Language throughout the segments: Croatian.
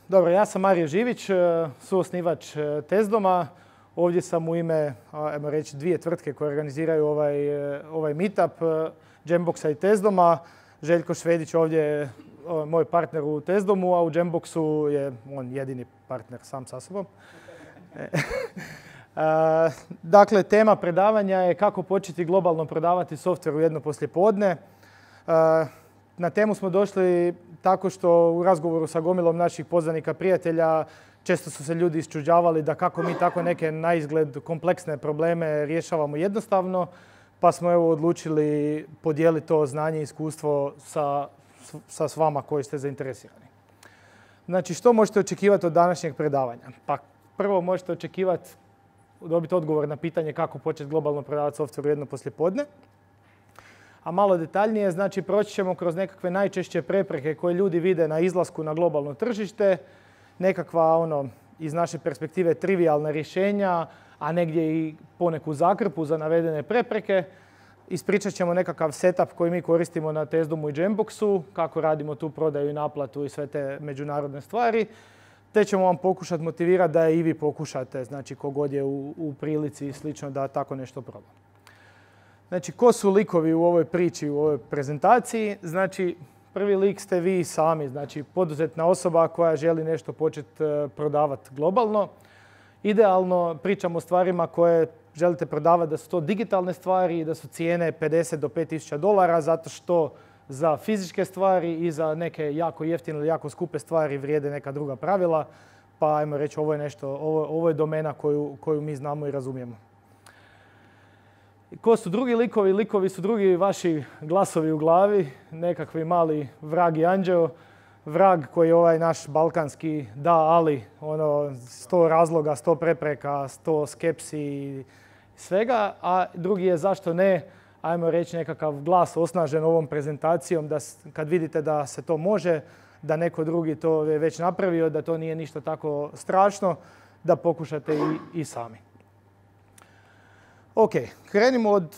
Dobro, ja sam Mario Živić, suosnivač Tezdoma. Ovdje sam u ime, ajmo reći, dvije tvrtke koje organiziraju ovaj meetup, Jamboxa i Tezdoma. Željko Švedić ovdje je moj partner u Tezdomu, a u Jamboxu je on jedini partner sam sa sobom. Dakle, tema predavanja je kako početi globalno prodavati softver u jedno poslijepodne. Na temu smo došli tako što u razgovoru sa gomilom naših poznanika prijatelja često su se ljudi isčuđavali da kako mi tako neke naizgled kompleksne probleme rješavamo jednostavno, pa smo evo odlučili podijeliti to znanje i iskustvo sa vama koji ste zainteresirani. Znači, što možete očekivati od današnjeg predavanja? Pa prvo možete očekivati dobiti odgovor na pitanje kako početi globalno prodavati softver u jedno poslijepodne. A malo detaljnije, znači proći ćemo kroz nekakve najčešće prepreke koje ljudi vide na izlasku na globalno tržište, nekakva iz naše perspektive trivijalna rješenja, a negdje i poneku zakrpu za navedene prepreke. Ispričat ćemo nekakav setup koji mi koristimo na Tezdomu i Jamboxu, kako radimo tu prodaju i naplatu i sve te međunarodne stvari. Te ćemo vam pokušati motivirati da i vi pokušate, znači kogod je u prilici i slično da tako nešto proba. Znači, ko su likovi u ovoj priči, u ovoj prezentaciji? Znači, prvi lik ste vi sami, znači poduzetna osoba koja želi nešto početi prodavati globalno. Idealno pričamo o stvarima koje želite prodavati da su to digitalne stvari i da su cijene 50 do 5000 dolara, zato što za fizičke stvari i za neke jako jeftine ili jako skupe stvari vrijede neka druga pravila. Pa ajmo reći, ovo je domena koju mi znamo i razumijemo. Ko su drugi likovi? Likovi su drugi vaši glasovi u glavi, nekakvi mali vrag i anđeo. Vrag koji je ovaj naš balkanski da, ali 100 razloga, 100 prepreka, 100 skepsi i svega. A drugi je zašto ne, ajmo reći, nekakav glas osnažen ovom prezentacijom da kad vidite da se to može, da neko drugi to je već napravio, da to nije ništa tako strašno, da pokušate i sami. Ok, krenimo od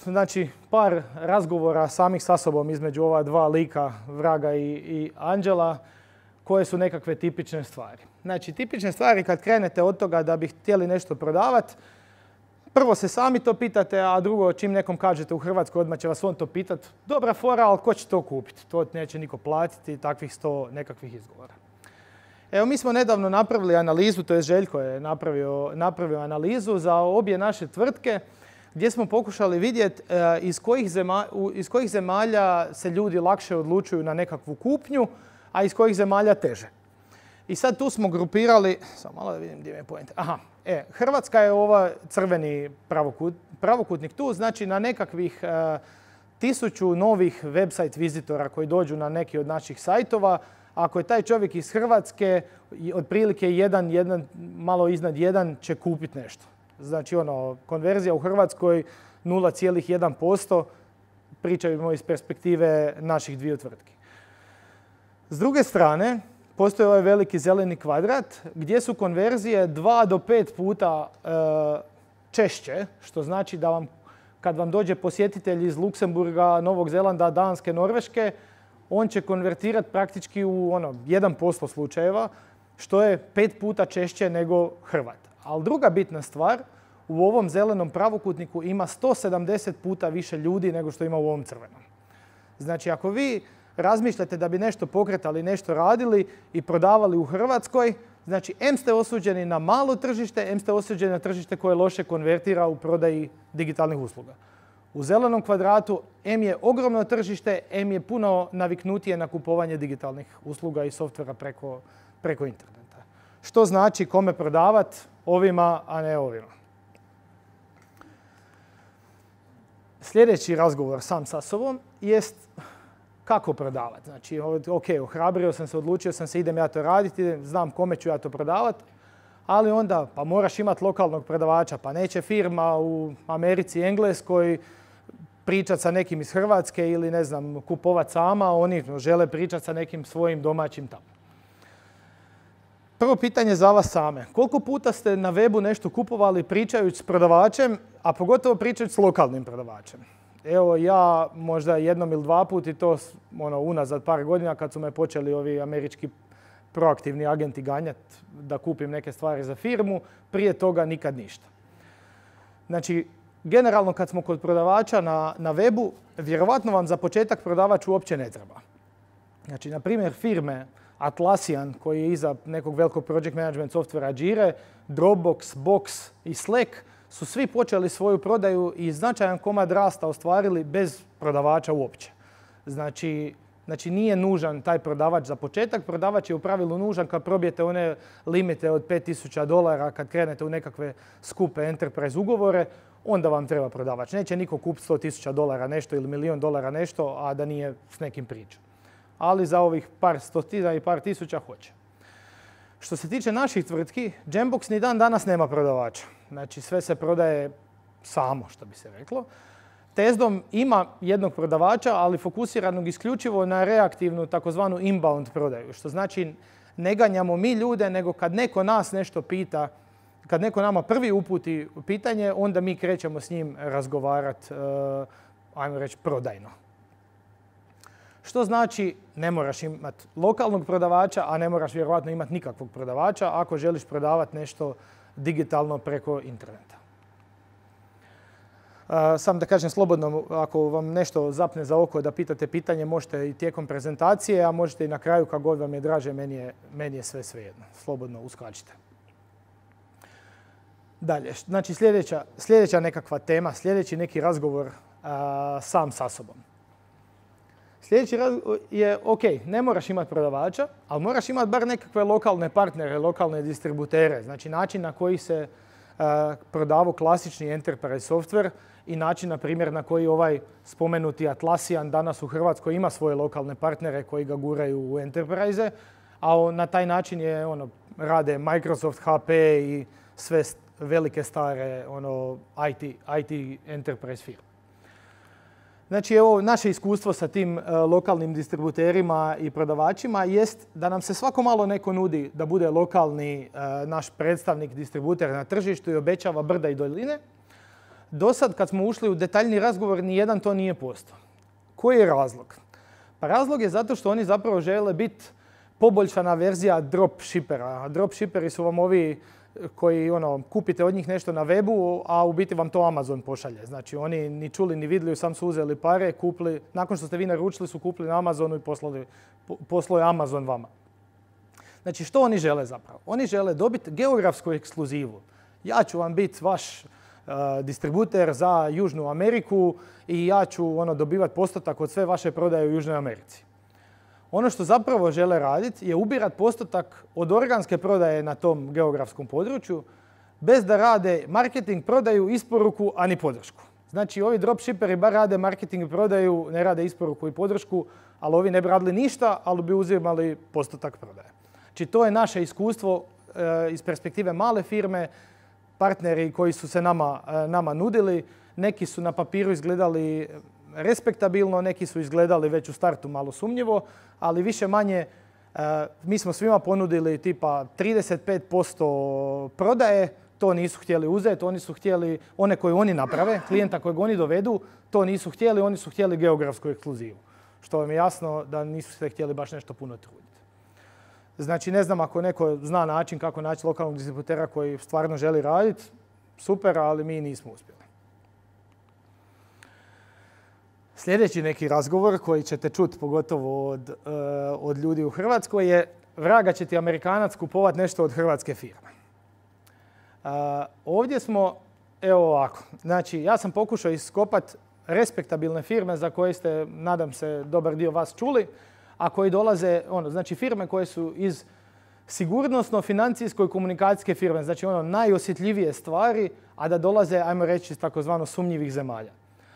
par razgovora samih sa sobom između ova dva lika, vraga i anđela, koje su nekakve tipične stvari. Znači, tipične stvari kad krenete od toga da bi htjeli nešto prodavati, prvo se sami to pitate, a drugo čim nekom kažete u Hrvatskoj odmah će vas on to pitati. Dobra fora, ali ko će to kupiti? To neće niko platiti, takvih 100 nekakvih izgovora. Evo, mi smo nedavno napravili analizu, to je Željko je napravio analizu za obje naše tvrtke, gdje smo pokušali vidjeti iz kojih zemalja se ljudi lakše odlučuju na nekakvu kupnju, a iz kojih zemalja teže. I sad tu smo grupirali, samo malo da vidim gdje mi je point. Hrvatska je ova crveni pravokutnik tu, znači na nekakvih 1000 novih website vizitora koji dođu na neki od naših sajtova. Ako je taj čovjek iz Hrvatske, otprilike malo iznad 1 će kupiti nešto. Znači, konverzija u Hrvatskoj 0,1%, pričamo iz perspektive naših dviju tvrtki. S druge strane, postoji ovaj veliki zeleni kvadrat gdje su konverzije 2 do 5 puta češće, što znači da kad vam dođe posjetitelj iz Luksemburga, Novog Zelanda, Danske, Norveške, on će konvertirati praktički u 1% slučajeva, što je 5 puta češće nego Hrvat. Ali druga bitna stvar, u ovom zelenom pravokutniku ima 170 puta više ljudi nego što ima u ovom crvenom. Znači, ako vi razmišljate da bi nešto pokretali, nešto radili i prodavali u Hrvatskoj, znači, em ste osuđeni na malo tržište, em ste osuđeni na tržište koje loše konvertira u prodaji digitalnih usluga. U zelenom kvadratu em je ogromno tržište, em je puno naviknutije na kupovanje digitalnih usluga i softvera preko interneta. Što znači kome prodavati? Ovima, a ne ovima. Sljedeći razgovor sam sa sobom jest kako prodavati. Znači, ok, ohrabrio sam se, odlučio sam se, idem ja to raditi, znam kome ću ja to prodavati, ali onda pa moraš imati lokalnog prodavača, pa neće firma u Americi, Engleskoj pričati sa nekim iz Hrvatske ili ne znam, kupovati sama, oni žele pričati sa nekim svojim domaćim tamo. Prvo pitanje za vas same. Koliko puta ste na webu nešto kupovali pričajući s prodavačem, a pogotovo pričajući s lokalnim prodavačem? Evo, ja možda jednom ili dva put i to unazad par godina kad su me počeli ovi američki proaktivni agenti ganjati da kupim neke stvari za firmu, prije toga nikad ništa. Znači, generalno kad smo kod prodavača na webu, vjerovatno vam za početak prodavač uopće ne treba. Znači, na primjer, firme Atlassian, koji je iza nekog velikog project management softvera Jira, Dropbox, Box i Slack, su svi počeli svoju prodaju i značajan komad rasta ostvarili bez prodavača uopće. Znači nije nužan taj prodavač za početak. Prodavač je u pravilu nužan kad probijete one limite od $5,000, kad krenete u nekakve skupe enterprise ugovore, onda vam treba prodavač. Neće niko kupiti $100,000 nešto ili $1,000,000 nešto, a da nije s nekim pričom. Ali za ovih par stotina i par tisuća hoće. Što se tiče naših tvrtki, Jambox ni dan danas nema prodavača. Znači sve se prodaje samo, što bi se reklo. Tezdom ima jednog prodavača, ali fokusiranog isključivo na reaktivnu takozvanu inbound prodaju. Što znači ne ganjamo mi ljude, nego kad neko nas nešto pita, kad neko nama prvi uputi pitanje, onda mi krećemo s njim razgovarati, ajmo reći, prodajno. Što znači ne moraš imati lokalnog prodavača, a ne moraš vjerojatno imati nikakvog prodavača ako želiš prodavati nešto digitalno preko interneta. Sam da kažem slobodno, ako vam nešto zapne za oko da pitate pitanje, možete i tijekom prezentacije, a možete i na kraju kako god vam je draže, meni je sve svejedno. Slobodno uskačite. Dalje, znači sljedeća nekakva tema, sljedeći neki razgovor sam sa sobom. Sljedeći razgovor je, ok, ne moraš imati prodavača, ali moraš imati bar nekakve lokalne partnere, lokalne distributere. Znači način na koji se prodavao klasični enterprise software i način, na primjer, na koji ovaj spomenuti Atlassian danas u Hrvatskoj ima svoje lokalne partnere koji ga guraju u enterprise, a na taj način rade Microsoft, HP i sve velike stare IT enterprise firme. Znači, evo, naše iskustvo sa tim lokalnim distributerima i prodavačima jest da nam se svako malo neko nudi da bude lokalni naš predstavnik, distributer na tržištu i obećava brda i doline. Do sad, kad smo ušli u detaljni razgovor, nijedan to nije postao. Koji je razlog? Pa razlog je zato što oni zapravo žele biti poboljšana verzija dropshippera. Dropshipperi su vam ovi koji kupite od njih nešto na webu, a u biti vam to Amazon pošalje. Znači oni ni čuli ni vidjeli, sam su uzeli pare, kupili, nakon što ste vi naručili su kupili na Amazonu i poslao je Amazon vama. Znači što oni žele zapravo? Oni žele dobiti geografsku ekskluzivu. Ja ću vam biti vaš distributer za Južnu Ameriku i ja ću dobivati postotak od sve vaše prodaje u Južnoj Americi. Ono što zapravo žele raditi je ubirati postotak od organske prodaje na tom geografskom području bez da rade marketing, prodaju, isporuku, a ni podršku. Znači ovi dropshipperi bar rade marketing i prodaju, ne rade isporuku i podršku, ali ovi ne bi radili ništa, ali bi uzimali postotak prodaje. Znači to je naše iskustvo iz perspektive male firme, partneri koji su se nama nudili. Neki su na papiru izgledali respektabilno, neki su izgledali već u startu malo sumnjivo, ali više manje mi smo svima ponudili tipa 35% prodaje, to nisu htjeli uzeti, oni su htjeli one koje oni naprave, klijenta kojeg oni dovedu, to nisu htjeli, oni su htjeli geografsku ekskluzivu. Što vam je jasno da nisu se htjeli baš nešto puno truditi. Znači ne znam ako neko zna način kako naći lokalnog distributera koji stvarno želi raditi, super, ali mi nismo uspjeli. Sljedeći neki razgovor koji ćete čuti pogotovo od ljudi u Hrvatskoj je vraga će ti Amerikanac kupovat nešto od hrvatske firme. Ovdje smo, evo ovako, znači ja sam pokušao iskopati respektabilne firme za koje ste, nadam se, dobar dio vas čuli, a koji dolaze, znači firme koje su iz sigurnosno-financijsko i komunikacijske firme, znači najosjetljivije stvari, a da dolaze, ajmo reći, iz takozvano sumnjivih zemalja.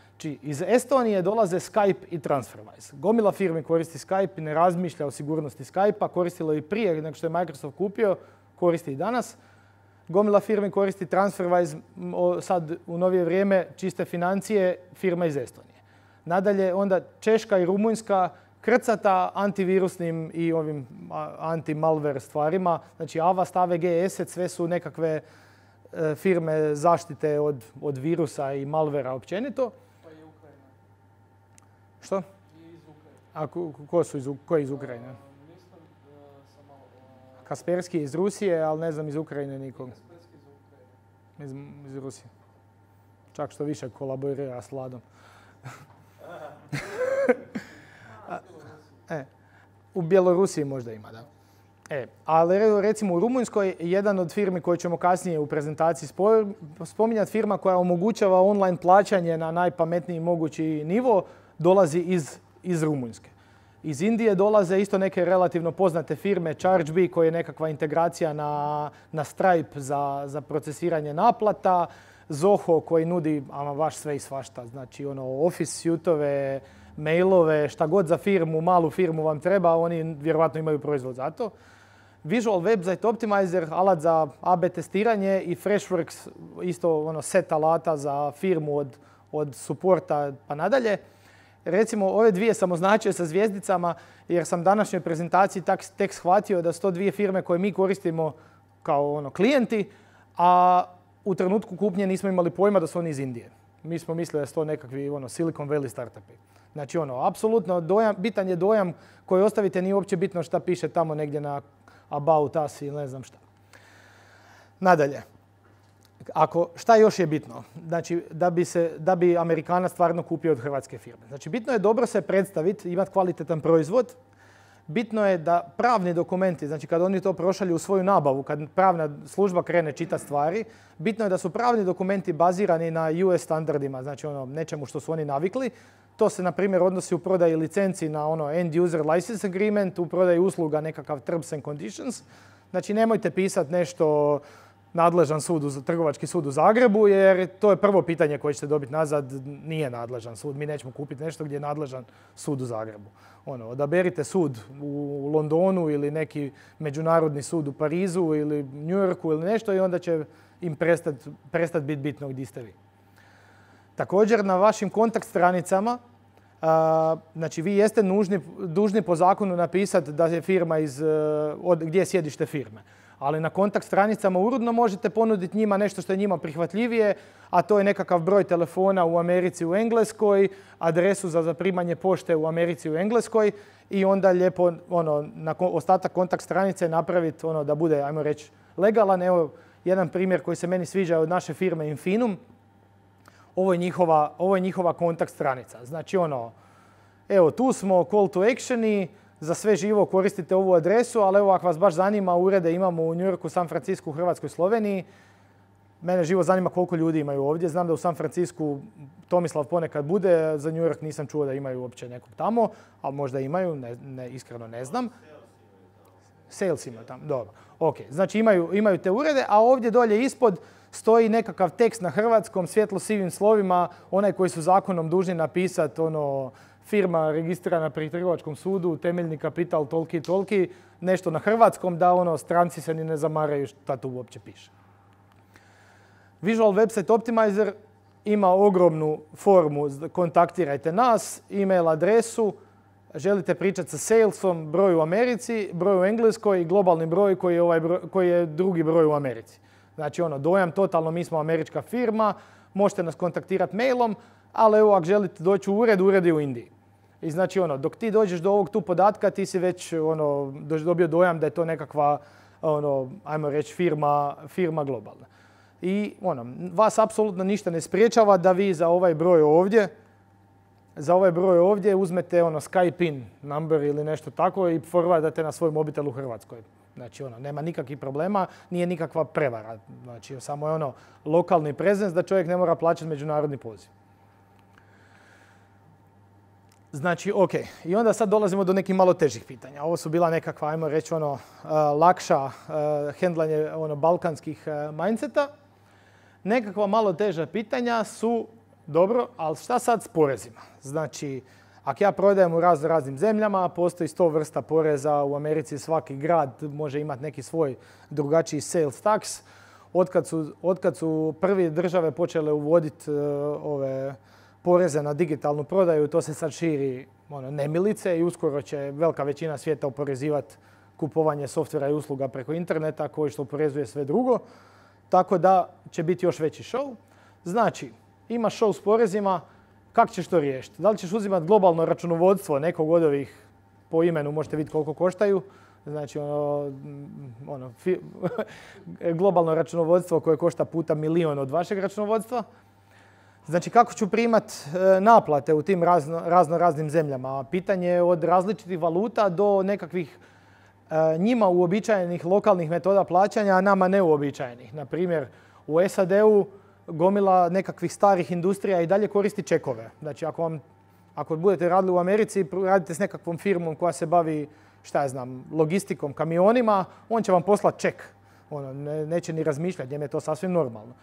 Znači, iz Estonije dolaze Skype i TransferWise. Gomila firmi koristi Skype i ne razmišlja o sigurnosti Skype-a, koristilo i prije nego što je Microsoft kupio, koristi i danas. Gomila firmi koristi TransferWise, sad u novije vrijeme čiste financije, firma iz Estonije. Nadalje, onda Češka i Rumunjska krcata antivirusnim i ovim anti-malware stvarima. Znači, Avast, AVG, Asset, sve su nekakve firme zaštite od virusa i malvera općenito. Pa je Ukrajina. Što? I iz Ukrajine. A ko je iz Ukrajine? Mislim sam malo Kaspersky je iz Rusije, ali ne znam iz Ukrajine nikog. Iz Rusije. Čak što više kolaborira s Vladom. U Bjelorusiji možda ima, da. Ali recimo u Rumunjskoj jedan od firmi koje ćemo kasnije u prezentaciji spominjati, firma koja omogućava online plaćanje na najpametniji mogući nivo, dolazi iz Rumunjske. Iz Indije dolaze isto neke relativno poznate firme, Chargebee koja je nekakva integracija na Stripe za procesiranje naplata, Zoho koji nudi ama baš sve i svašta, znači Office suitove, mailove, šta god za firmu, malu firmu vam treba, oni vjerovatno imaju proizvod za to. Visual Website Optimizer, alat za AB testiranje i Freshworks, isto set alata za firmu od supporta pa nadalje. Recimo, ove dvije sam označio sa zvijezdicama jer sam današnjoj prezentaciji tek shvatio da su to dvije firme koje mi koristimo kao klijenti, a u trenutku kupnje nismo imali pojma da su oni iz Indije. Mi smo mislili da su to nekakvi Silicon Valley startupi. Znači apsolutno bitan je dojam koji ostavite, nije uopće bitno šta piše tamo negdje na About Us ili ne znam šta. Nadalje, šta još je bitno? Znači, da bi Amerikanac stvarno kupio od hrvatske firme. Znači, bitno je dobro se predstaviti, imati kvalitetan proizvod. Bitno je da pravni dokumenti, znači kad oni to prošalju u svoju nabavu, kad pravna služba krene čitati stvari, bitno je da su pravni dokumenti bazirani na US standardima, znači nečemu što su oni navikli. To se, na primjer, odnosi u prodaji licenci na end user license agreement, u prodaji usluga nekakav terms and conditions. Znači, nemojte pisati nešto nadležan sud, trgovački sud u Zagrebu, jer to je prvo pitanje koje ćete dobiti nazad, nije nadležan sud. Mi nećemo kupiti nešto gdje je nadležan sud u Zagrebu. Odaberite sud u Londonu ili neki međunarodni sud u Parizu ili New Yorku ili nešto i onda će im prestati biti bitno gdje ste vi. Također, na vašim kontakt stranicama, znači vi jeste dužni po zakonu napisati da je firma gdje je sjedište firme. Ali na kontakt stranicama uredno možete ponuditi njima nešto što je njima prihvatljivije, a to je nekakav broj telefona u Americi u Engleskoj, adresu za zaprimanje pošte u Americi u Engleskoj i onda lijepo ostatak kontakt stranice napraviti da bude, ajmo reći, legalan. Evo jedan primjer koji se meni sviđa od naše firme Infinum. Ovo je njihova kontakt stranica. Znači evo tu smo, call to action i za sve živo koristite ovu adresu, ali evo ako vas baš zanima, urede imamo u New Yorku, San Francisku, Hrvatskoj, Sloveniji. Mene živo zanima koliko ljudi imaju ovdje. Znam da u San Francisku Tomislav ponekad bude, za New York nisam čuo da imaju uopće nekog tamo, ali možda imaju, iskreno ne znam. Sales ima tamo, dobro. Ok, znači imaju te urede, a ovdje dolje ispod stoji nekakav tekst na hrvatskom, svjetlo sivim slovima, onaj koji su zakonom dužni napisati, firma registrirana pri trgovačkom sudu, temeljni kapital toliki, nešto na hrvatskom, da stranci se ni ne zamaraju šta tu uopće piše. Visual Website Optimizer ima ogromnu formu, kontaktirajte nas, e-mail adresu, želite pričati sa salesom, broj u Americi, broj u Engleskoj i globalni broj koji je drugi broj u Americi. Znači dojam totalno, mi smo američka firma, možete nas kontaktirati mailom, ali evo ako želite doći u ured je u Indiji. I znači dok ti dođeš do ovog tu podatka, ti si već dobio dojam da je to nekakva, ajmo reći, firma globalna. I vas apsolutno ništa ne spriječava da vi za ovaj broj ovdje uzmete Skype in number ili nešto tako i forwardate na svoj mobitel u Hrvatskoj. Znači, nema nikakvih problema, nije nikakva prevara. Znači, samo je lokalni prezens da čovjek ne mora plaćati međunarodni poziv. Znači, ok. I onda sad dolazimo do nekih malo težih pitanja. Ovo su bila nekakva, ajmo reći, lakša hendlanje balkanskih mindseta. Nekakva malo teža pitanja su, dobro, ali šta sad s porezima? Znači, ako ja prodajem u raznim zemljama, postoji 100 vrsta poreza. U Americi svaki grad može imati neki svoj drugačiji sales tax. Otkad su prvi države počele uvoditi ove poreze na digitalnu prodaju, to se sad širi nemilice i uskoro će velika većina svijeta oporezivati kupovanje softvera i usluga preko interneta koji što oporezuje sve drugo. Tako da će biti još veći show. Znači, imaš show s porezima, kako ćeš to riješiti? Da li ćeš uzimati globalno računovodstvo nekog od ovih, po imenu možete vidjeti koliko koštaju, Znači, globalno računovodstvo koje košta puta milion od vašeg računovodstva. Znači, kako ću primat naplate u tim raznim zemljama? Pitanje je od različitih valuta do nekakvih njima uobičajenih lokalnih metoda plaćanja, a nama neuobičajenih. Na primjer, u SAD-u gomila nekakvih starih industrija i dalje koristi čekove. Znači, ako budete radili u Americi, radite s nekakvom firmom koja se bavi, logistikom, kamionima, on će vam poslati ček. Neće ni razmišljati, njemu je to sasvim normalno.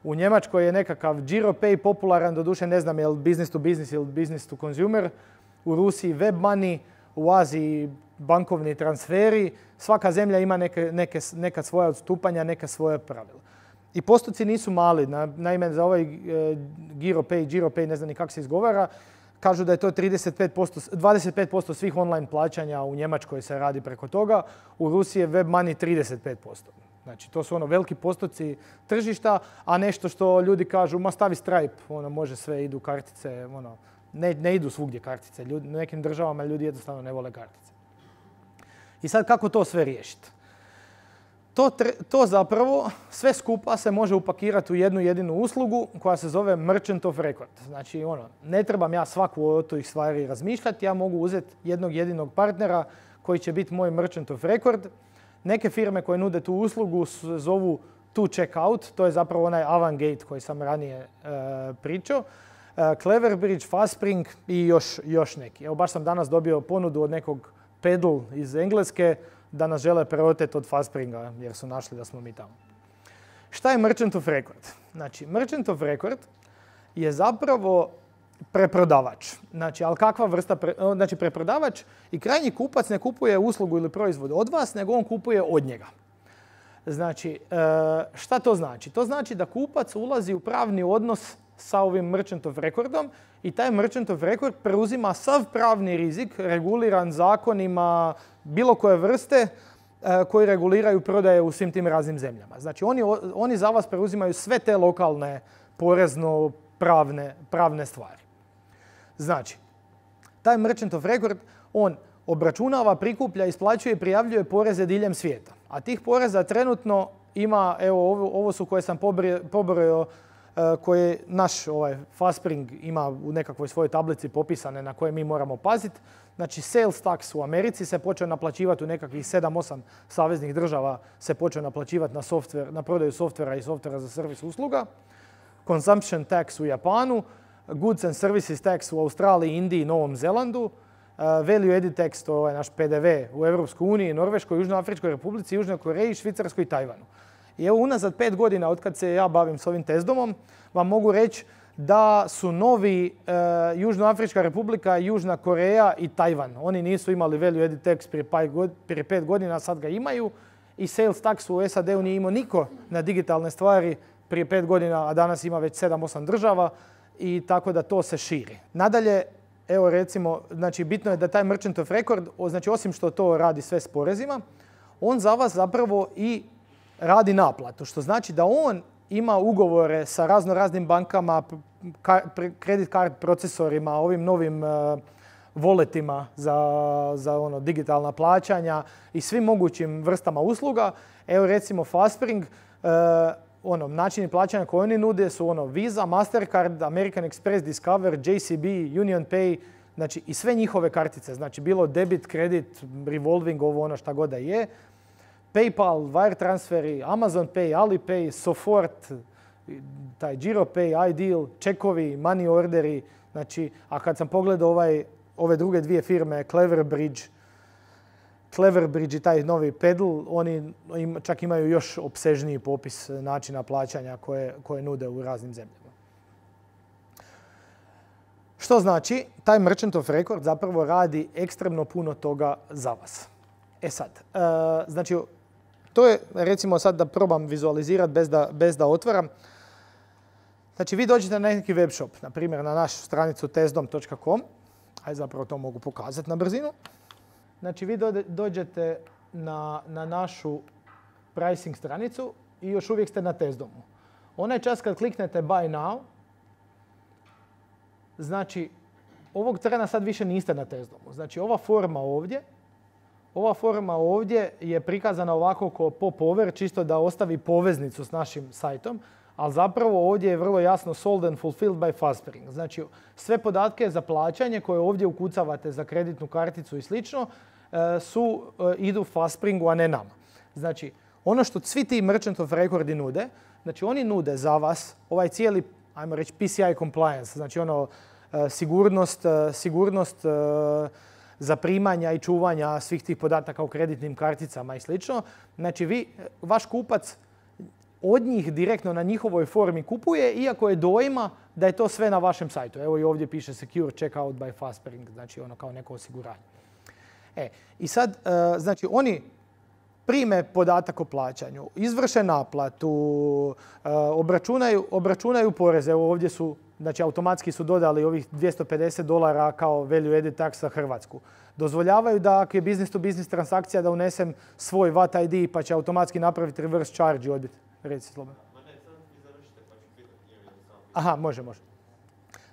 U Njemačkoj je nekakav GiroPay popularan, doduše ne znam je li business to business ili business to consumer. U Rusiji web money, u Aziji bankovni transferi. Svaka zemlja ima neka svoja odstupanja, neka svoja pravila. I postoci nisu mali. Naime, za ovaj GiroPay, ne znam ni kako se izgovara, kažu da je to 25% svih online plaćanja u Njemačkoj se radi preko toga. U Rusiji je web money 35%. Znači, to su veliki postoci tržišta, a nešto što ljudi kažu, ma stavi Stripe, može sve, idu kartice, ne idu svugdje kartice. U nekim državama ljudi jednostavno ne vole kartice. I sad kako to sve riješiti? To zapravo sve skupa se može upakirati u jednu jedinu uslugu koja se zove Merchant of Record. Znači, ne trebam ja svaku od tih stvari razmišljati, ja mogu uzeti jednog jedinog partnera koji će biti moj Merchant of Record. Neke firme koje nude tu uslugu zovu to checkout, to je zapravo onaj Avantgate koji sam ranije pričao. Cleverbridge, Fastspring i još neki. Evo, baš sam danas dobio ponudu od nekog Pedal iz Engleske da nas žele preoteti od Fastspringa jer su našli da smo mi tamo. Šta je Merchant of Record? Znači, Merchant of Record je zapravo preprodavač. Znači, ali kakva vrsta znači preprodavač i krajnji kupac ne kupuje uslugu ili proizvod od vas, nego on kupuje od njega. Znači, šta to znači? To znači da kupac ulazi u pravni odnos sa ovim Merchant of Recordom i taj Merchant of Record preuzima sav pravni rizik reguliran zakonima bilo koje vrste koji reguliraju prodaje u svim tim raznim zemljama. Znači, oni za vas preuzimaju sve te lokalne porezno-pravne stvari. Znači, taj Merchant of Record, on obračunava, prikuplja, isplaćuje i prijavljuje poreze diljem svijeta. A tih poreza trenutno ima, evo, ovo su koje sam pobrojao, koje naš Fastspring ima u nekakvoj svojoj tablici popisane na koje mi moramo paziti. Znači, sales tax u Americi se počeo naplaćivati u nekakvih 7-8 saveznih država, se počeo naplaćivati na prodaju softvera i softvera za servis usluga. Consumption tax u Japanu, goods and services tax u Australiji, Indiji i Novom Zelandu, value added tax, to je naš PDV u Europskoj uniji, Norveškoj, Južnoafričkoj Republici, Južnoj Koreji, Švicarskoj i Tajvanu. I evo, unazad 5 godina od kad se ja bavim s ovim testdomom, vam mogu reći da su novi Južnoafrička Republika, Južna Koreja i Tajvan. Oni nisu imali value added tax prije 5 godina, sad ga imaju. I sales tax u SAD-u nije imao niko na digitalne stvari prije 5 godina, a danas ima već 7-8 država i tako da to se širi. Nadalje, evo recimo, znači bitno je da taj Merchant of Record, znači osim što to radi sve s porezima, on za vas zapravo i radi naplatu, što znači da on ima ugovore sa raznim bankama, kredit card procesorima, ovim novim walletima za digitalna plaćanja i svim mogućim vrstama usluga. Evo recimo Fastspring, načini plaćanja koje oni nude su Visa, Mastercard, American Express, Discover, JCB, Union Pay, znači i sve njihove kartice, znači bilo debit, kredit, revolving, šta god da je. PayPal, wire transferi, Amazon Pay, Alipay, Sofort, taj GiroPay, iDeal, čekovi, money orderi. Znači, a kad sam pogledao ove druge dvije firme, Cleverbridge i taj novi Pedal, oni čak imaju još opsežniji popis načina plaćanja koje nude u raznim zemljama. Što znači, taj Merchant of Record zapravo radi ekstremno puno toga za vas. E sad, znači, to je, recimo sad da probam vizualizirati bez da otvaram. Znači, vi dođete na neki web shop, na primjer na našu stranicu testdom.com. Ajde, zapravo to mogu pokazati na brzinu. Znači, vi dođete na našu pricing stranicu i još uvijek ste na testdomu. Onaj čas kad kliknete buy now, znači, ovog trena sad više niste na testdomu. Znači, ova forma ovdje, ova forma ovdje je prikazana ovako ko popover, čisto da ostavi poveznicu s našim sajtom, ali zapravo ovdje je vrlo jasno sold and fulfilled by Fastspring. Znači, sve podatke za plaćanje koje ovdje ukucavate za kreditnu karticu i slično idu Fastspringu, a ne nama. Znači, ono što svi ti Merchant of Recordi nude, znači oni nude za vas ovaj cijeli, ajmo reći, PCI compliance, znači ono sigurnost zaprimanja i čuvanja svih tih podataka o kreditnim karticama i slično. Znači, vaš kupac od njih direktno na njihovoj formi kupuje, iako je dojma da je to sve na vašem sajtu. Evo i ovdje piše Secure Checkout by Fastspring, znači ono kao neko osiguranje. I sad, znači oni prime podatak o plaćanju, izvrše naplatu, obračunaju poreze. Evo ovdje su, znači automatski su dodali ovih $250 kao value added tax za Hrvatsku. Dozvoljavaju da ako je business to business transakcija da unesem svoj VAT ID pa će automatski napraviti reverse charge i odbiti. Reci slobodno. Aha, može.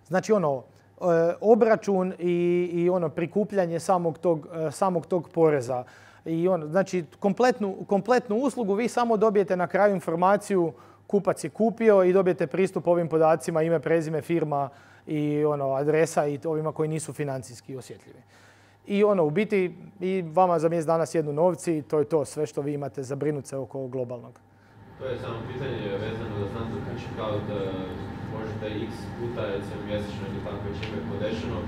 Znači ono, obračun i ono prikupljanje samog tog poreza. I ono, znači kompletnu uslugu vi samo dobijete na kraju informaciju kupac je kupio i dobijete pristup ovim podacima, ime, prezime, firma i ono, adresa i ovima koji nisu financijski osjetljivi. I ono, u biti, i vama za mjesec dana sjednu novci i to je to sve što vi imate zabrinuti se oko globalnog. To je samo pitanje vezano za standard checkout, možete x puta, recimo mjesečno ili tako već ime podešeno,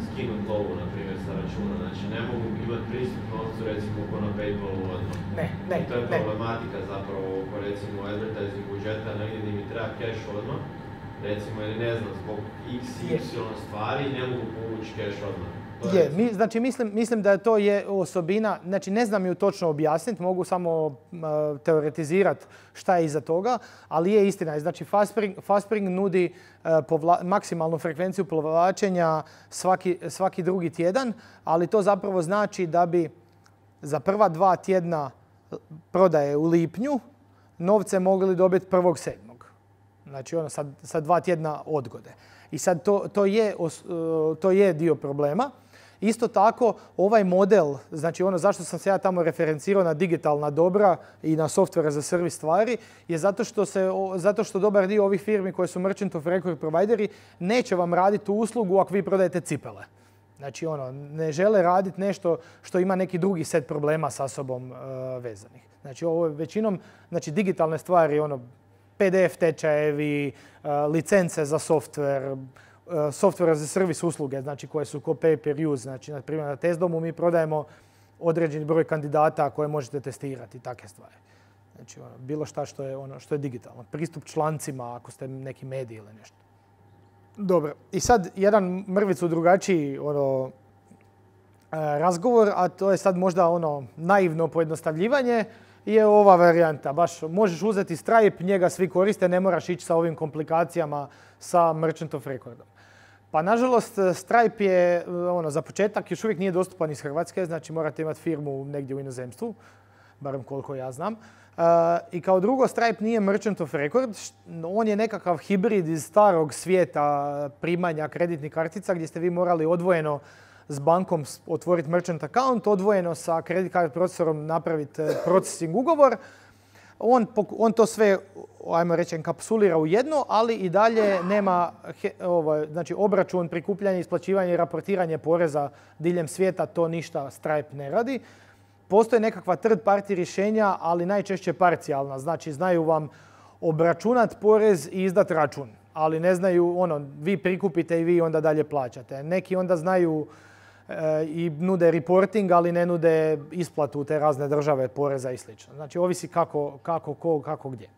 skinut lovu, na primjer, sa računa. Znači, ne mogu imati pristup novcu, recimo, ko na PayPalu odmah. Ne. I to je problematika zapravo oko, recimo, advertising budžeta, negdje gdje mi treba cash odmah, recimo, ili ne znam, zbog y stvari ne mogu povući cash odmah. Znači mislim da to je osobina, znači ne znam ju točno objasniti, mogu samo teoretizirati šta je iza toga, ali je istina. Znači Fastspring nudi maksimalnu frekvenciju povlačenja svaki drugi tjedan, ali to zapravo znači da bi za prva 2 tjedna prodaje u lipnju novce mogli dobiti 1.7. Znači ono sa 2 tjedna odgode. I sad to je dio problema. Isto tako, ovaj model, znači ono zašto sam se ja tamo referencirao na digitalna dobra i na software za servis stvari, je zato što dobar dio ovih firmi koje su Merchant of Record provideri neće vam raditi tu uslugu ako vi prodajete cipele. Znači ono, ne žele raditi nešto što ima neki drugi set problema sa sobom vezanih. Znači ovo je većinom, znači digitalne stvari, ono, PDF tečajevi, licence za software za servis usluge, znači koje su pay per use. Znači, na primjer, na Testdomu mi prodajemo određeni broj kandidata koje možete testirati i takve stvari. Znači, bilo šta što je digitalno. Pristup člancima ako ste neki mediji ili nešto. Dobro, i sad jedan mrvicu drugačiji razgovor, a to je sad možda naivno pojednostavljivanje, je ova varijanta. Baš možeš uzeti Stripe, njega svi koriste, ne moraš ići sa ovim komplikacijama sa Merchant of Recordom. Pa nažalost Stripe je za početak još uvijek nije dostupan iz Hrvatske, znači morate imati firmu negdje u inozemstvu, barem koliko ja znam. I kao drugo, Stripe nije Merchant of Record, on je nekakav hibrid iz starog svijeta primanja kreditnih kartica gdje ste vi morali odvojeno s bankom otvoriti merchant account, odvojeno sa credit card procesorom napraviti processing ugovor. On to sve, ajmo reći, enkapsulira u jedno, ali i dalje nema znači, obračun, prikupljanje, isplaćivanje i raportiranje poreza diljem svijeta, to ništa Stripe ne radi. Postoje nekakva third party rješenja, ali najčešće parcijalna. Znači, znaju vam obračunati porez i izdati račun, ali ne znaju, vi prikupite i vi onda dalje plaćate. Neki onda znaju i nude reporting, ali ne nude isplatu u te razne države poreza i sl. Znači, ovisi kako gdje.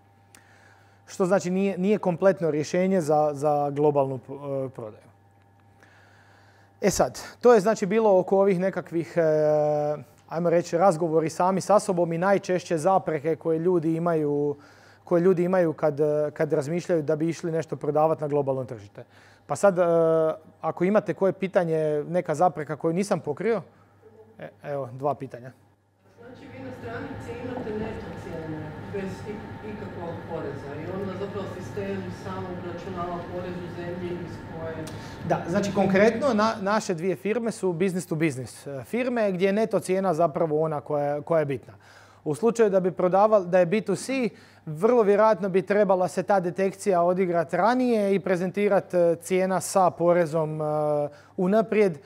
Što znači nije kompletno rješenje za globalnu prodaju. E sad, to je znači bilo oko ovih nekakvih, ajmo reći, razgovori sami sa sobom i najčešće zapreke koje ljudi imaju kad razmišljaju da bi išli nešto prodavati na globalno tržište. Pa sad, ako imate koje pitanje, neka zapreka koju nisam pokrio, evo, 2 pitanja. Znači vi na stranici imate neto cijene. bez ikakvog poreza i onda zapravo sistem samo obračunava porez u zemlji iz koje... Da, znači konkretno naše dvije firme su business to business firme gdje je neto cijena zapravo ona koja je bitna. U slučaju da bi prodavali, da je B2C, vrlo vjerojatno bi trebala se ta detekcija odigrati ranije i prezentirati cijena sa porezom unaprijed.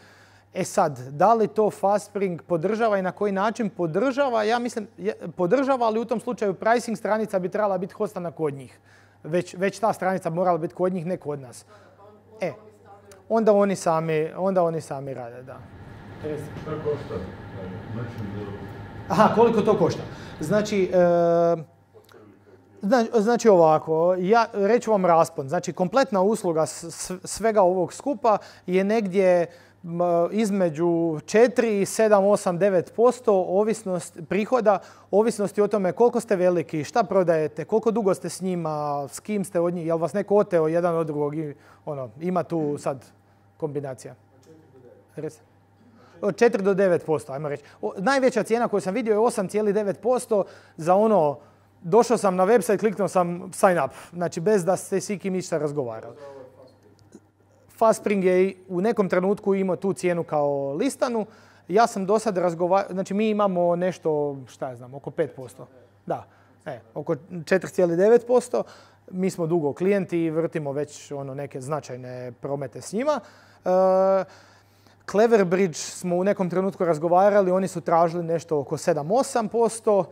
E sad, da li to Fastspring podržava i na koji način podržava? Ja mislim, podržava, ali u tom slučaju pricing stranica bi trebala biti hostana kod njih. Već ta stranica morala biti kod njih, ne kod nas. Onda oni sami rade, da. Šta košta? Aha, koliko to košta? Znači ovako, ja reću vam raspon. Znači kompletna usluga svega ovog skupa je negdje između 4, 7, 8, 9% ovisnost prihoda, ovisnosti o tome koliko ste veliki, šta prodajete, koliko dugo ste s njima, s kim ste od njih, jel vas neko oteo jedan od drugog i ima tu sad kombinacija. Od 4 do 9%, ajmo reći. Najveća cijena koju sam vidio je 8,9% za došao sam na website, kliknuo sam sign up, znači bez da ste s ikim ništa razgovarali. Fastspring je u nekom trenutku imao tu cijenu kao listanu. Ja sam do sad razgovarao, znači mi imamo nešto, oko 5%. Da, oko 4,9%. Mi smo dugo klijenti i vrtimo već neke značajne promete s njima. Cleverbridge smo u nekom trenutku razgovarali, oni su tražili nešto oko 7-8%.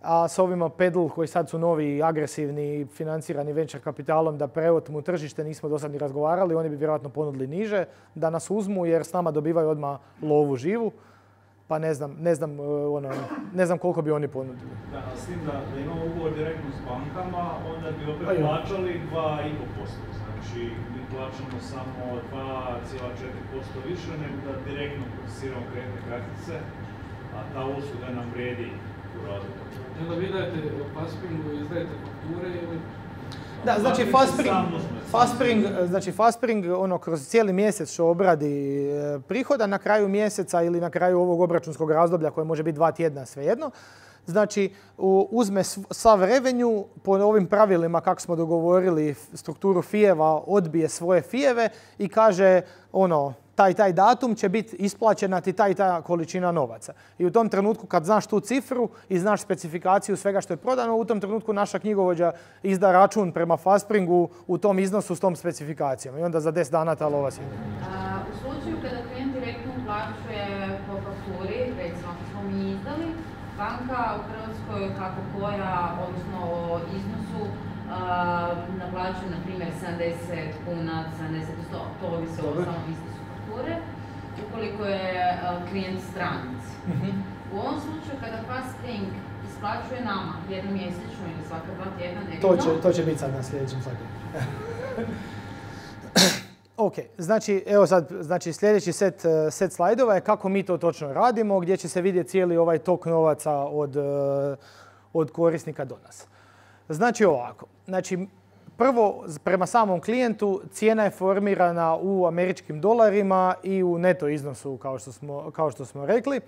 A s ovima Pedal koji sad su novi, agresivni, financirani venture kapitalom da preotmu tržište nismo do sad ni razgovarali, oni bi vjerojatno ponudili niže da nas uzmu jer s nama dobivaju odmah lovu živu. Pa ne znam koliko bi oni ponudili. Da, s tim da imamo ugovor direktno s bankama, onda bi opet plaćali 2,5%. Znači mi plaćamo samo 2,4% više nego da direktno procesiramo kreditne kartice, a ta usluga nam vrijedi u razliku. Onda vi dajete Fastspringu, izdajete fakture ili... Da, znači Fastspring kroz cijeli mjesec što obradi prihoda na kraju mjeseca ili na kraju ovog obračunskog razdoblja koje može biti 2 tjedna, svejedno. Znači uzme sav revenue po ovim pravilima kako smo dogovorili strukturu fijeva, odbije svoje fijeve i kaže taj datum će biti isplaćena ti ta količina novaca. I u tom trenutku kad znaš tu cifru i znaš specifikaciju svega što je prodano, u tom trenutku naša knjigovođa izda račun prema Fastspringu u tom iznosu s tom specifikacijom. I onda za 10 dana ta lova sjede. U slučaju kada klijent direktno uplaćuje po fakturi, recimo ako smo mi izdali, banka u Hrvatskoj kako koja, odnosno o iznosu, naplaćuje na primjer 70 kuna, 70, to ovisi o samom iznosu fakture, ukoliko je klijent stranac. U ovom slučaju kada Fastspring isplaćuje nama jednom mjesečno ili svaka 2 tjedna nekako... To će biti sad na sljedećem slajdu. Ok, znači sljedeći set slajdova je kako mi to točno radimo, gdje će se vidjeti cijeli ovaj tok novaca od korisnika do nas. Znači ovako, prvo prema samom klijentu cijena je formirana u američkim dolarima i u neto iznosu kao što smo rekli.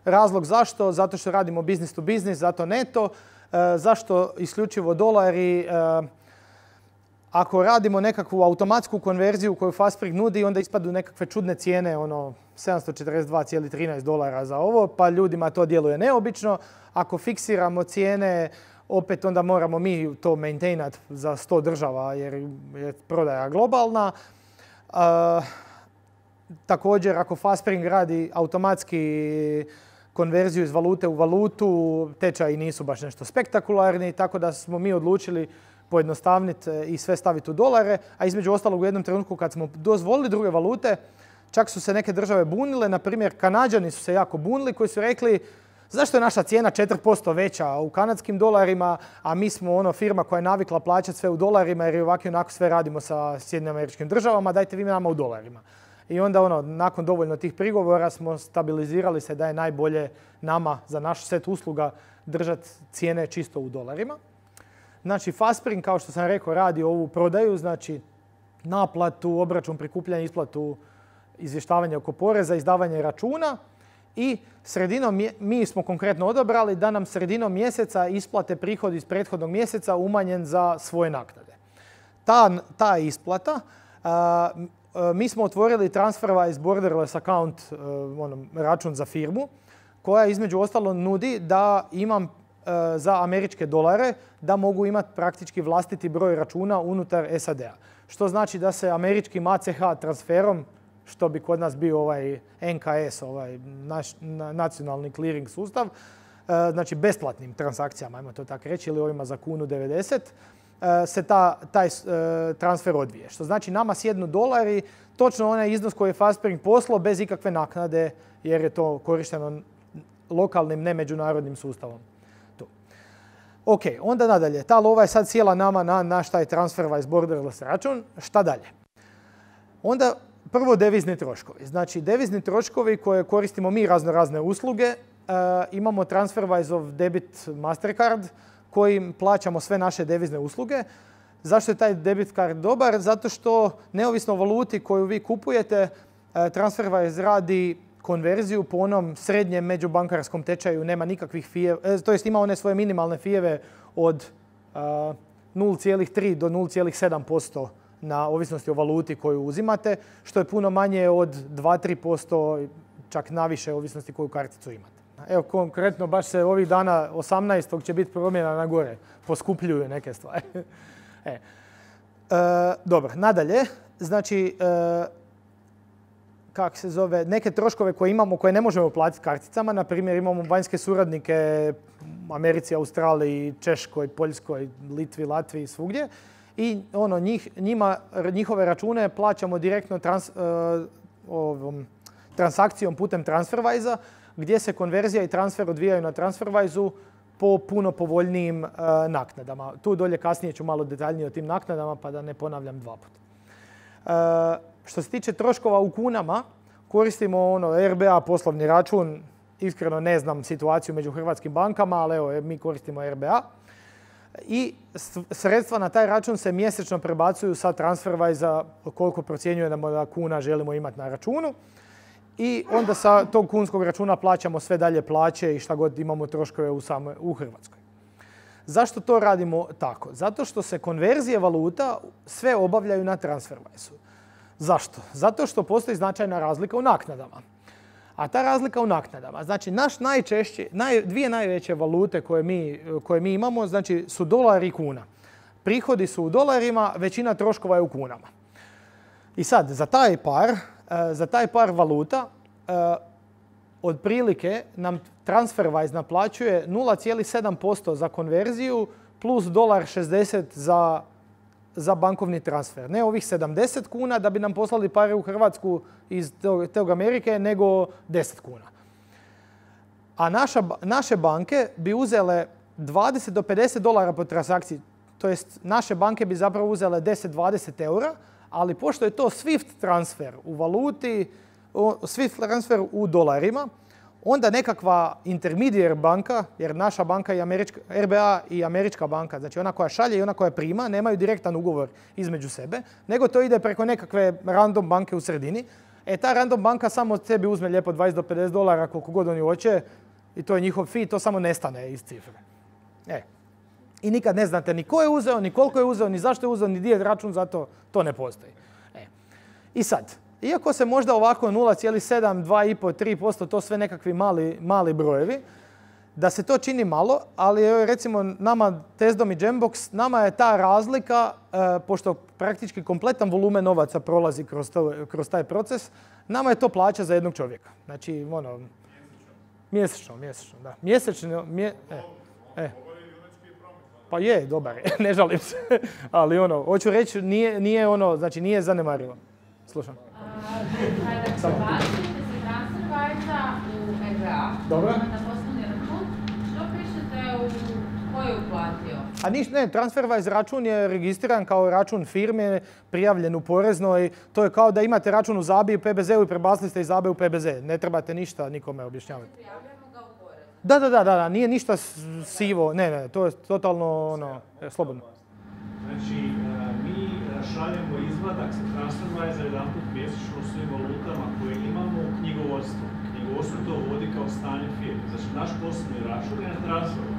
Razlog zašto? Zato što radimo business to business, zato neto. Zašto isključivo dolari? Ako radimo nekakvu automatsku konverziju koju Fastspring nudi, onda ispadu nekakve čudne cijene, $742,13 za ovo, pa ljudima to djeluje neobično. Ako fiksiramo cijene, opet onda moramo mi to maintainati za 100 država jer je prodaja globalna. Također, ako Fastspring radi automatski konverziju iz valute u valutu, tečaji nisu baš nešto spektakularni, tako da smo mi odlučili pojednostavniti i sve staviti u dolare, a između ostalog u jednom trenutku kad smo dozvolili druge valute, čak su se neke države bunile, na primjer Kanađani su se jako bunili koji su rekli zašto je naša cijena 4% veća u kanadskim dolarima, a mi smo firma koja je navikla plaćati sve u dolarima jer ovako i onako sve radimo sa Sjedinjenim Američkim Državama, dajte vi nama u dolarima. I onda nakon dovoljno tih prigovora smo stabilizirali se da je najbolje nama za naš set usluga držati cijene čisto u dolarima. Znači Fastspring, kao što sam rekao, radi ovu prodaju, znači naplatu, obračun, prikupljanje, isplatu, izvještavanje oko poreza, izdavanje računa i mi smo konkretno odabrali da nam sredinom mjeseca isplate prihod iz prethodnog mjeseca umanjen za svoje naknade. Ta isplata, mi smo otvorili TransferWise borderless account, račun za firmu, koja između ostalo nudi da imam za američke dolare da mogu imati praktički vlastiti broj računa unutar SAD-a. Što znači da se američkim ACH transferom, što bi kod nas bio ovaj NKS, ovaj naš nacionalni clearing sustav, znači besplatnim transakcijama, ajmo to tako reći, ili ovima za kunu 90, se taj transfer odvije. Što znači nama sjednu dolari, točno onaj iznos koji je Fastspring poslao bez ikakve naknade, jer je to korišteno lokalnim, ne međunarodnim sustavom. Ok, onda nadalje. Ta lova je sad sjela nama na naš taj TransferWise borderless račun. Šta dalje? Onda prvo devizni troškovi. Znači devizni troškovi koje koristimo mi razne usluge. Imamo TransferWise debit Mastercard kojim plaćamo sve naše devizne usluge. Zašto je taj debit card dobar? Zato što neovisno o valuti koju vi kupujete, TransferWise radi konverziju po onom srednjem međubankarskom tečaju, nema nikakvih fijeva, to jest ima one svoje minimalne fijeve od 0,3 do 0,7% na ovisnosti o valuti koju uzimate, što je puno manje od 2-3%, čak naviše ovisnosti koju karticu imate. Evo konkretno baš se ovih dana 18. će biti promjena na gore, poskupljuju neke stvari. Dobro, nadalje, znači neke troškove koje imamo, koje ne možemo platiti karticama. Na primjer, imamo vanjske suradnike u Americi, Australiji, Češkoj, Poljskoj, Litvi, Latviji, svugdje. I njihove račune plaćamo direktno transakcijom putem TransferWise-a, gdje se konverzija i transfer odvijaju na TransferWise-u po puno povoljnijim naknadama. Tu dolje kasnije ću malo detaljnije o tim naknadama, pa da ne ponavljam dva puta. Što se tiče troškova u kunama, koristimo RBA poslovni račun. Iskreno ne znam situaciju među hrvatskim bankama, ali evo, mi koristimo RBA. I sredstva na taj račun se mjesečno prebacuju sa TransferWise-a koliko procjenjujemo da kuna želimo imati na računu. I onda sa tog kunskog računa plaćamo sve dalje plaće i šta god imamo troškove u Hrvatskoj. Zašto to radimo tako? Zato što se konverzije valuta sve obavljaju na TransferWise-u. Zašto? Zato što postoji značajna razlika u naknadama. A ta razlika u naknadama, znači dvije najveće valute koje mi imamo, znači su dolar i kuna. Prihodi su u dolarima, većina troškova je u kunama. I sad, za taj par valuta, otprilike nam TransferWise naplaćuje 0,7% za konverziju plus $1.60 za bankovni transfer. Ne ovih 70 kuna da bi nam poslali pare u Hrvatsku iz tog Amerike, nego 10 kuna. A naše banke bi uzele 20 do $50 po transakciji. To jest, naše banke bi zapravo uzele 10-20 eura, ali pošto je to SWIFT transfer u valuti, SWIFT transfer u dolarima, onda nekakva intermediate banka, jer naša banka i RBA i američka banka, znači ona koja šalje i ona koja prima, nemaju direktan ugovor između sebe, nego to ide preko nekakve random banke u sredini. Ta random banka samo od sebi uzme lijepo 20 do $50 koliko god oni hoće i to je njihov fee, to samo nestane iz cifre. I nikad ne znate ni ko je uzeo, ni koliko je uzeo, ni zašto je uzeo, ni gdje je račun, zato to ne postoji. I sad, iako se možda ovako 0,7, 2,5, 3%, to sve nekakvi mali brojevi, da se to čini malo, ali recimo nama Tezdom i Jambox, nama je ta razlika, pošto praktički kompletan volumen novaca prolazi kroz taj proces, nama je to plaća za jednog čovjeka. Znači, mjesečno, da. Pa je, dobar je, ne žalim se. Ali hoću reći, nije zanemarivo. Slušam. Kada prebacite se TransferWise-a u RBA, na poslovni račun, što pišete ko je uplatio? TransferWise račun je registriran kao račun firme, prijavljen u poreznoj. To je kao da imate račun u ZABI i PBZ-u i prebacili ste iz ZABI u PBZ. Ne trebate ništa nikome objašnjavati. Prijavljamo ga u poreznu. Da, nije ništa sivo. Ne, to je totalno slobodno. Znači, mi šaljemo izvadak sa TransferWise-a jedanput mjesečno svim valutama koje imamo u knjigovodstvo. knjigovodstvo to vodi kao stanje firme. Znači, naš poslovni račun je na transferu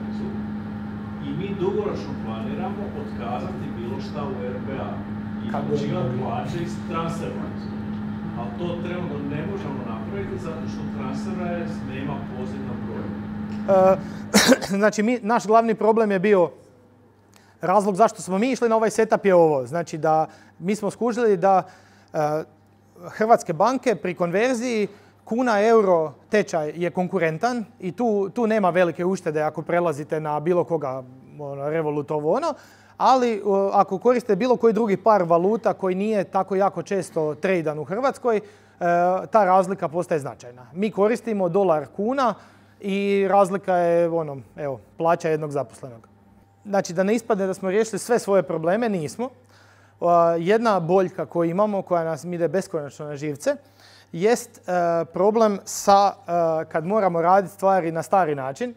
i mi dugoročno planiramo otkazati bilo šta u RBA i uplaćivati plaće iz transfera. Ali to trenutno ne možemo napraviti zato što TransferWise nema poziv na broj. Znači, naš glavni problem je bio, razlog zašto smo mi išli na ovaj setup je ovo. Znači da mi smo skužili da hrvatske banke pri konverziji kuna-euro tečaj je konkurentan i tu nema velike uštede ako prelazite na bilo koga, Revolut ovo ono, ali ako koriste bilo koji drugi par valuta koji nije tako jako često tradan u Hrvatskoj, ta razlika postaje značajna. Mi koristimo dolar kuna i razlika je plaća jednog zaposlenog. Znači da ne ispadne da smo riješili sve svoje probleme, nismo. Jedna boljka koju imamo, koja nas ide beskonačno na živce, jest problem sa kad moramo raditi stvari na stari način,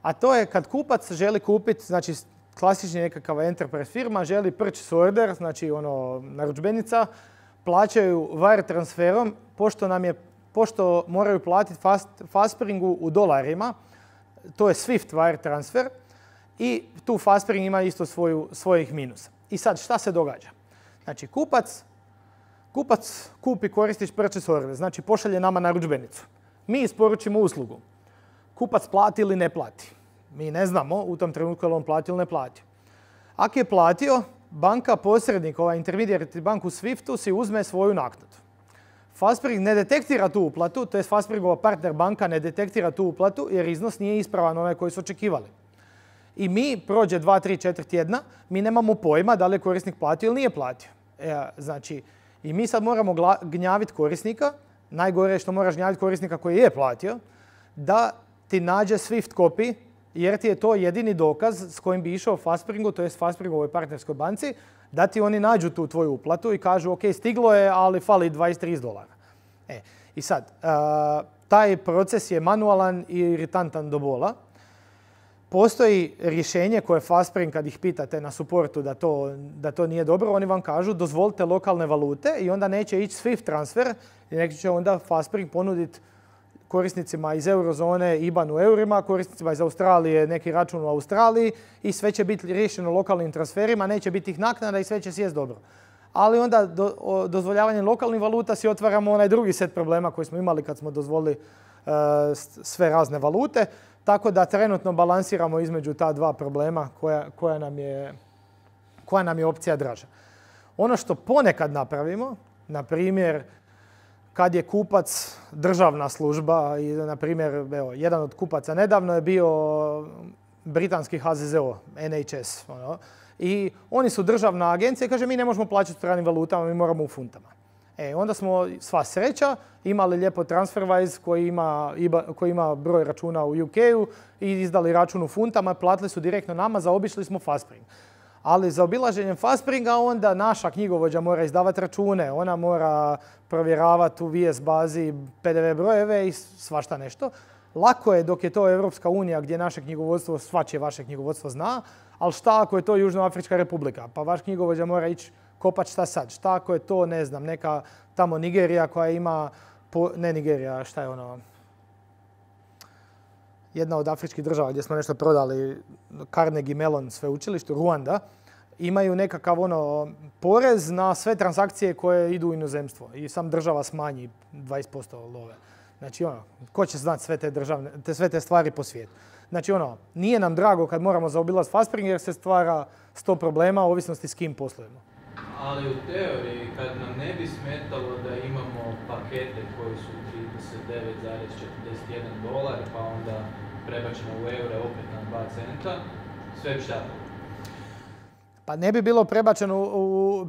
a to je kad kupac želi kupiti, znači klasični nekakav enterprise firma, želi purchase order, znači narudžbenica, plaćaju wire transferom, pošto moraju platiti Fastspringu u dolarima, to je Swift wire transfer, i tu Fastspring ima isto svojih minusa. I sad šta se događa? Znači kupac kupi koristiš purchase order, znači pošalje nama narudžbenicu. Mi isporučimo uslugu. Kupac plati ili ne plati. Mi ne znamo u tom trenutku je li on platio ili ne platio. Ako je platio, banka posrednik, intermediary bank u Swiftu si uzme svoju naknadu. Fastspring ne detektira tu uplatu, to je Fastspringova partner banka ne detektira tu uplatu jer iznos nije ispravan onaj koji su očekivali. I mi prođe 2, 3, 4 tjedna, mi nemamo pojma da li je korisnik platio ili nije platio. Znači, i mi sad moramo gnjaviti korisnika, najgore je što moraš gnjaviti korisnika koji je platio, da ti nađe Swift copy, jer ti je to jedini dokaz s kojim bi išao Fastspringu, to je Fastspringovoj partnerskoj banci, da ti oni nađu tu tvoju uplatu i kažu ok, stiglo je, ali fali $20-30. I sad, taj proces je manualan i iritantan do bola. Postoji rješenje koje Fastspring, kad ih pitate na supportu da to nije dobro, oni vam kažu dozvolite lokalne valute i onda neće ići Swift transfer i neki će onda Fastspring ponuditi korisnicima iz eurozone IBAN u eurima, korisnicima iz Australije neki račun u Australiji i sve će biti riješeno lokalnim transferima, neće biti ih naknada i sve će sjest dobro. Ali onda dozvoljavanjem lokalnih valuta si otvaramo onaj drugi set problema koji smo imali kad smo dozvolili sve razne valute. Tako da trenutno balansiramo između ta dva problema koja nam je opcija draža. Ono što ponekad napravimo, na primjer, kad je kupac državna služba, i na primjer, jedan od kupaca nedavno je bio britanski HZZO, NHS, i oni su državna agencija i kaže mi ne možemo plaćati stranim valutama, mi moramo u funtama. Onda smo sva sreća imali lijepo TransferWise koji ima broj računa u UK-u i izdali račun u funtama, platili su direktno nama, zaobišli smo Fastspring. Ali za obilaženjem Fastspringa onda naša knjigovođa mora izdavati račune, ona mora provjeravati u VS bazi PDV brojeve i svašta nešto. Lako je dok je to Europska unija gdje naše knjigovodstvo, svačije vaše knjigovodstvo zna, ali šta ako je to Južnoafrička republika? Pa vaš knjigovođa mora ići kopati šta sad. Šta ako je to, ne znam, neka tamo Nigerija koja ima, ne Nigerija, šta je ono, jedna od afričkih država gdje smo nešto prodali, Carnegie Mellon sveučilištu, Ruanda, imaju nekakav porez na sve transakcije koje idu u inozemstvo i sam država smanji 20% love. Znači ko će znati sve te stvari po svijetu. Znači nije nam drago kad moramo zaobilaziti Fastspring jer se stvara 100 problema u ovisnosti s kim poslujemo. Ali u teoriji, kad nam ne bi smetalo da imamo pakete koji su $39,41, pa onda prebačeno u eure opet na 2 centa, sve bi šta? Pa ne bi bilo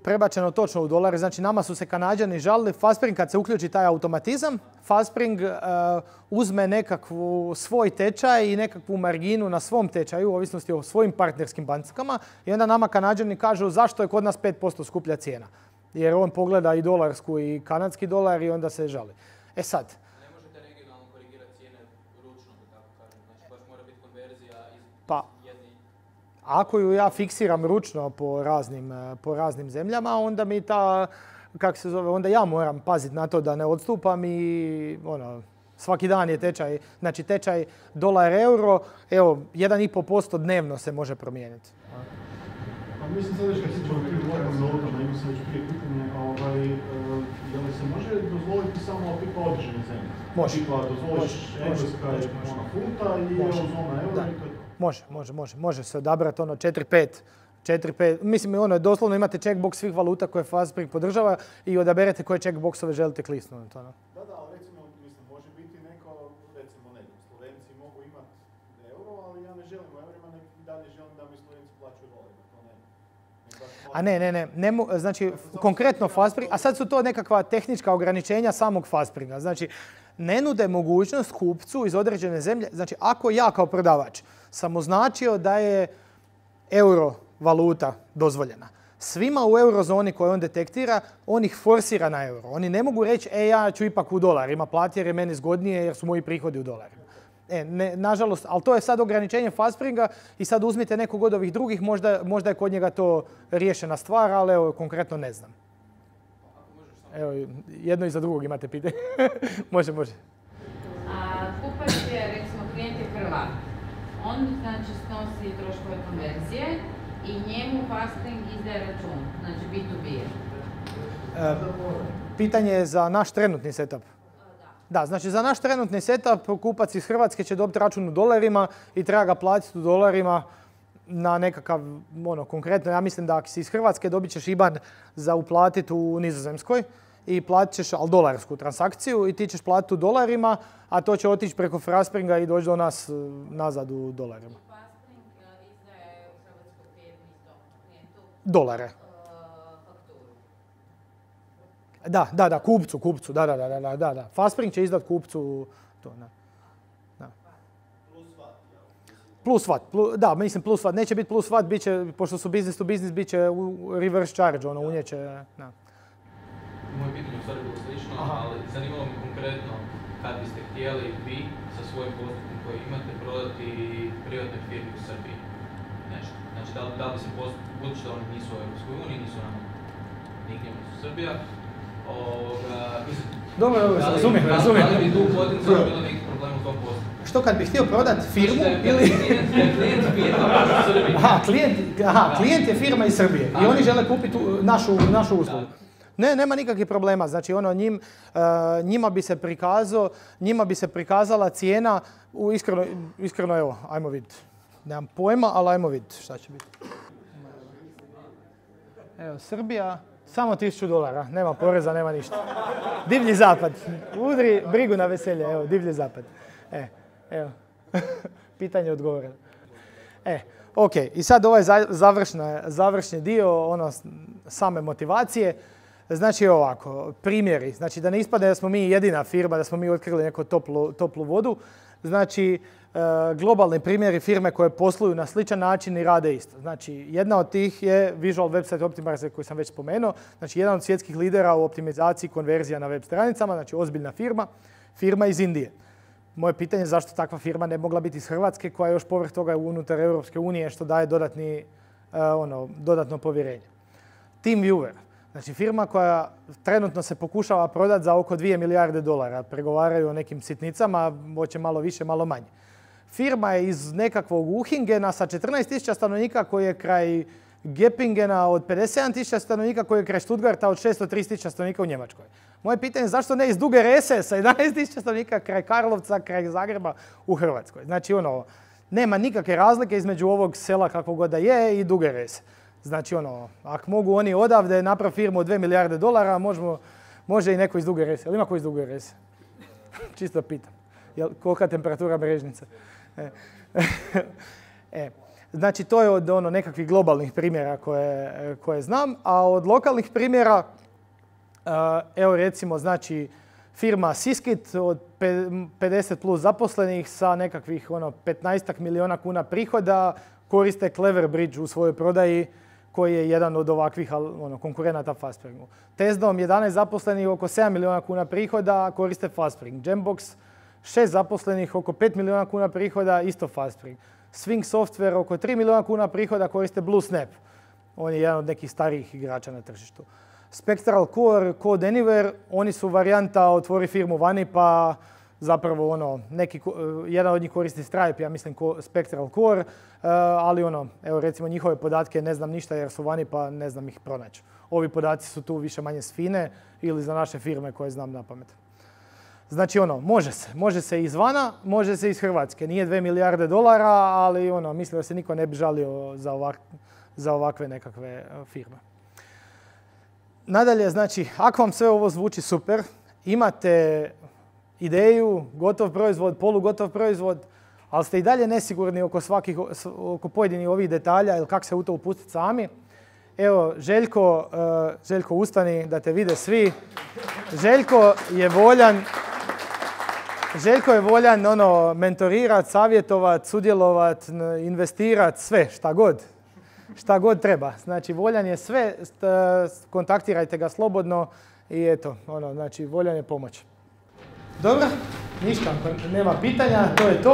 prebačeno točno u dolare. Znači nama su se Kanađani žalili. Fastspring kad se uključi taj automatizam, Fastspring uzme nekakvu svoj tečaj i nekakvu marginu na svom tečaju, u ovisnosti o svojim partnerskim bankama. I onda nama Kanađani kažu zašto je kod nas 5% skuplja cijena. Jer on pogleda i dolarsku i kanadski dolar i onda se žali. Sad. Ne možete regionalno korigirati cijene ručno, da tako kažem. Znači baš mora biti konverzija iz jedni. Ako ju ja fiksiram ručno po raznim zemljama, onda mi onda ja moram paziti na to da ne odstupam i Svaki dan je tečaj, znači tečaj dolar-euro, evo, 1,5% dnevno se može promijeniti. Pa mislim sad već kad se ćemo prije govoriti o valutama, imam se već prije pitanje, je li se može dozvoliti samo tipa određene zemlje? Može. Tipa dozvoliš Engleska je ona funta i eurozona euro i to je to. Može se odabrati 4-5, mislim ono, doslovno imate checkbox svih valuta koje Fastspring podržava i odaberete koje checkboxove želite klisnuti. Da, ali recimo, mislim, može biti neko, recimo ne, Slovenci mogu imati euro, ali ja ne želim u eurima, nek i dalje želim da mi Slovenci plaćaju dolarima, to ne. A ne, znači konkretno Fastspring, a sad su to nekakva tehnička ograničenja samog Fastspringa. Znači, ne nude mogućnost kupcu iz određene zemlje, znači ako ja kao prodavač sam označio da je euro valuta dozvoljena. Svima u eurozoni koje on detektira, on ih forsira na euro. Oni ne mogu reći, ja ću ipak u dolarima platiti jer je meni zgodnije jer su moji prihodi u dolarima. Nažalost, ali to je sad ograničenje Fastspringa i sad uzmite nekog od ovih drugih, možda je kod njega to riješena stvar, ali evo, konkretno ne znam. Evo, jedno i za drugog imate pitanje. Može. Kupac je, recimo, klijent je Hrvat. On znači snosi troškove konverzije i njemu Fastspring izdaje račun, znači B2B. Pitanje je za naš trenutni setup. Da, znači za naš trenutni setup kupac iz Hrvatske će dobiti račun u dolarima i treba ga platiti u dolarima na nekakav, konkretno, ja mislim da ako si iz Hrvatske dobit ćeš IBAN za uplatiti u Nizozemskoj i platit ćeš, ali dolarsku transakciju i ti ćeš platiti u dolarima, a to će otići preko Fastspringa i doći do nas nazad u dolarima. Fastspring izdaje u Hrvatskoj klijentu dolare. Da, kupcu, da. Fastspring će izdati kupcu to, da. Plus VAT, da, mislim plus VAT. Neće biti plus VAT, bit će, pošto su business to business, bit će reverse charge, unijeće, da. Moje pitanje u stvari bilo slično, ali zanimalo me konkretno kad biste htjeli vi sa svojim postupkom koji imate prodati privatnoj firmi u Srbiji. Nešto. Znači, da li bi se budući da oni nisu u Europskoj uniji, nisu nama nigdje nisu Srbija, Dobro, razumijem. Da li bi tu potencijalno bilo nekih problema u tom postupku? Što kad bih htio prodati firmu ili... Klijent je firma iz Srbije i oni žele kupiti našu uslugu. Ne, nema nikakvih problema. Znači, njima bi se prikazala cijena, iskreno, evo, ajmo vidjeti. Nemam pojma, ali ajmo vidjeti šta će biti. Evo, Srbija, samo $1000, nema poreza, nema ništa. Divlji zapad. Udri brigu na veselje, evo, divlji zapad. Evo, pitanje odgovoreno. Ok, i sad ovaj završni dio, same motivacije. Znači ovako, primjeri, znači da ne ispadne da smo mi jedina firma, da smo mi otkrili neku toplu vodu. Znači, globalni primjeri firme koje posluju na sličan način i rade isto. Znači, jedna od tih je Visual Website Optimizer koju sam već spomenuo. Znači, jedan od svjetskih lidera u optimizaciji konverzija na web stranicama, znači ozbiljna firma iz Indije. Moje pitanje je zašto takva firma ne mogla biti iz Hrvatske koja je još povrh toga unutar Europske unije što daje dodatno povjerenje. TeamViewer. Znači firma koja trenutno se pokušava prodati za oko $2 milijarde. Pregovaraju o nekim sitnicama, hoće malo više, malo manje. Firma je iz nekakvog Uhingena sa 14.000 stanovnika koji je kraj Gepingena od 57.000 stanovnika koji je kraj Stuttgarta od 630.000 stanovnika u Njemačkoj. Moje pitanje je zašto ne iz Duge Rese sa 11.000 stanovnika kraj Karlovca, kraj Zagreba u Hrvatskoj. Znači nema nikakve razlike između ovog sela kako god da je i Duge Rese. Znači ako mogu oni odavde napraviti firmu od $2 milijarde, može i neko iz Duge Rese. Ili ima ko iz Duge Rese? Čisto pitam. Kolika temperatura mrežnice? Znači to je od nekakvih globalnih primjera koje znam, a od lokalnih primjera, evo recimo, znači firma Siskit od 50 plus zaposlenih sa nekakvih 15 milijuna kuna prihoda koriste Cleverbridge u svojoj prodaji koji je jedan od ovakvih konkurenata Fastspringu. Tezdom 11 zaposlenih, oko 7 milijuna kuna prihoda, koriste Fastspring. Jambox 6 zaposlenih, oko 5 milijuna kuna prihoda, isto Fastspring. Swing Software, oko 3 milijuna kuna prihoda, koriste BlueSnap. On je jedan od nekih starijih igrača na tržištu. Spectral Core, Code Anywhere, oni su varijanta otvori firmu vani pa zapravo ono, jedan od njih koristi Stripe, ja mislim Spectral Core, ali ono, evo recimo njihove podatke ne znam ništa jer su vani pa ne znam ih pronaći. Ovi podaci su tu više manje s FINE ili za naše firme koje znam na pamet. Znači ono, može se izvana, može se iz Hrvatske. Nije 2 milijarde dolara, ali ono, mislim da se niko ne bi žalio za ovakve nekakve firme. Nadalje, znači, ako vam sve ovo zvuči super, imate ideju, gotov proizvod, polugotov proizvod, ali ste i dalje nesigurni oko pojedinih ovih detalja ili kako se u to upustiti sami. Evo, Željko ustani da te vide svi. Željko je voljan ono, mentorirati, savjetovati, sudjelovati, investirati, sve, šta god treba. Znači, voljan je sve, kontaktirajte ga slobodno i eto, ono, znači, voljan je pomoć. Dobro, ništa, nema pitanja, to je to.